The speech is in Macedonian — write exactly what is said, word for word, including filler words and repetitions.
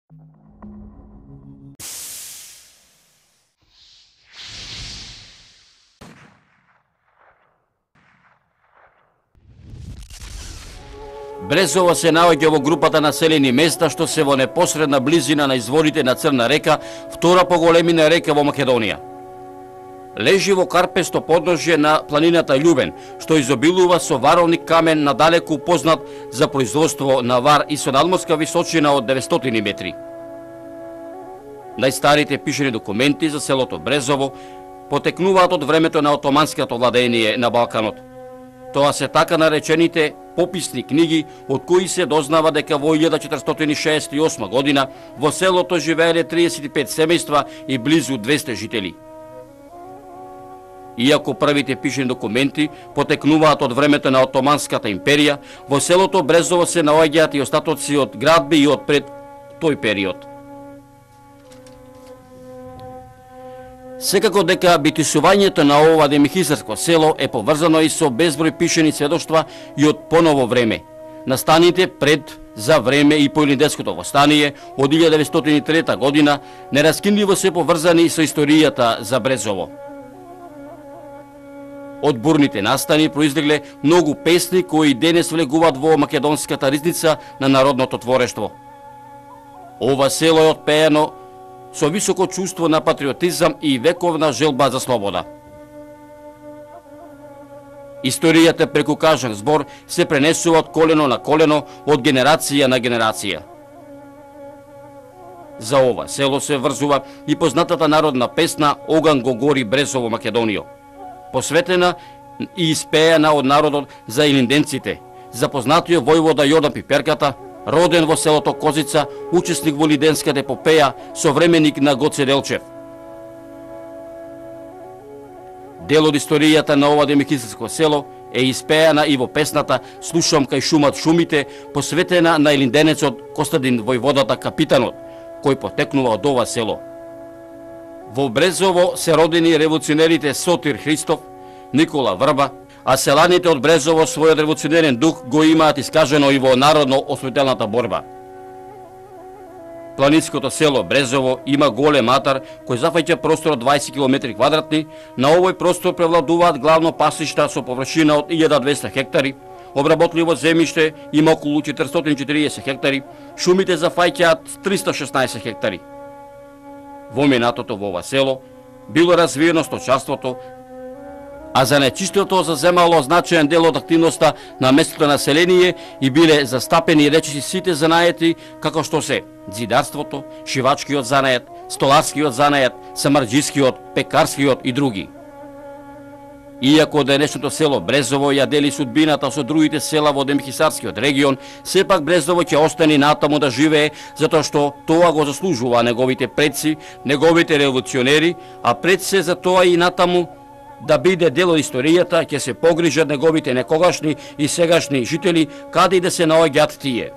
Брезово се наоѓа во групата населени места што се во непосредна близина на изворите на Црна река, втора по големина река во Македонија. Лежи во карпесто подножје на планината Љубен, што изобилува со варовник камен надалеку познат за производство на вар и со надморска височина од деветстотини метри. Најстарите пишани документи за селото Брезово потекнуваат од времето на отоманското владење на Балканот. Тоа се така наречените пописни книги, од кои се дознава дека во илјада четиристотини шеесет и осма година во селото живееле триесет и пет семејства и близу двесте жители. Иако првите пишани документи потекнуваат од времето на Отоманската империја, во селото Брезово се наоѓаат и остатоци од градби и од пред тој период. Секако дека битисувањето на ова демихисарско село е поврзано и со безброј пишани сведоштва и од поново време. Настаните пред, за време и по Илинденското востание од илјада деветстотини и трета година нераскинливо се поврзани со историјата за Брезово. Од бурните настани произлегле многу песни кои денес влегуваат во македонската ризница на народното творештво. Ова село е отпеено со високо чувство на патриотизам и вековна желба за слобода. Историјата преку кажан збор се пренесува од колено на колено, од генерација на генерација. За ова село се врзува и познатата народна песна Оган го гори Брезово Македонијо, посветена и испеена од народот за илинденците, за познатиот војвода Јордан Пиперката, роден во селото Козица, учесник во Лиденската епопеја, современик на Гоце Делчев. Дел од историјата на ова демихисарско село е испеана и во песната Слушам кај шумат шумите, посветена на илинденецот Костадин војводата Капитанот, кој потекнува од ова село. Во Брезово се родени револуционерите Сотир Христов, Никола Врба, а селаните од Брезово својот револуционерен дух го имаат искажено и во народно-освоителната борба. Планинското село Брезово има голем атар кој зафаќа простор од дваесет километри квадратни. На овој простор превладуваат главно пасишта со површина од илјада и двесте хектари, обработливо земјиште има околу четиристотини и четиридесет хектари, шумите зафаќаат триста и шеснаесет хектари. Во минатото во ова село било развиено сточарството, а за нечистото заземало значаен дел од активноста на местното население и биле застапени речиси сите занаети, како што се зидарството, шивачкиот занает, столарскиот занает, самарџискиот, пекарскиот и други. Иако денешното село Брезово ја дели судбината со другите села во демихисарскиот регион, сепак Брезово ќе остане натаму да живее, затоа што тоа го заслужува неговите предци, неговите револуционери, а пред се за тоа и натаму да биде дел од историјата, ќе се погрижат неговите некогашни и сегашни жители, каде и да се наоѓаат тие.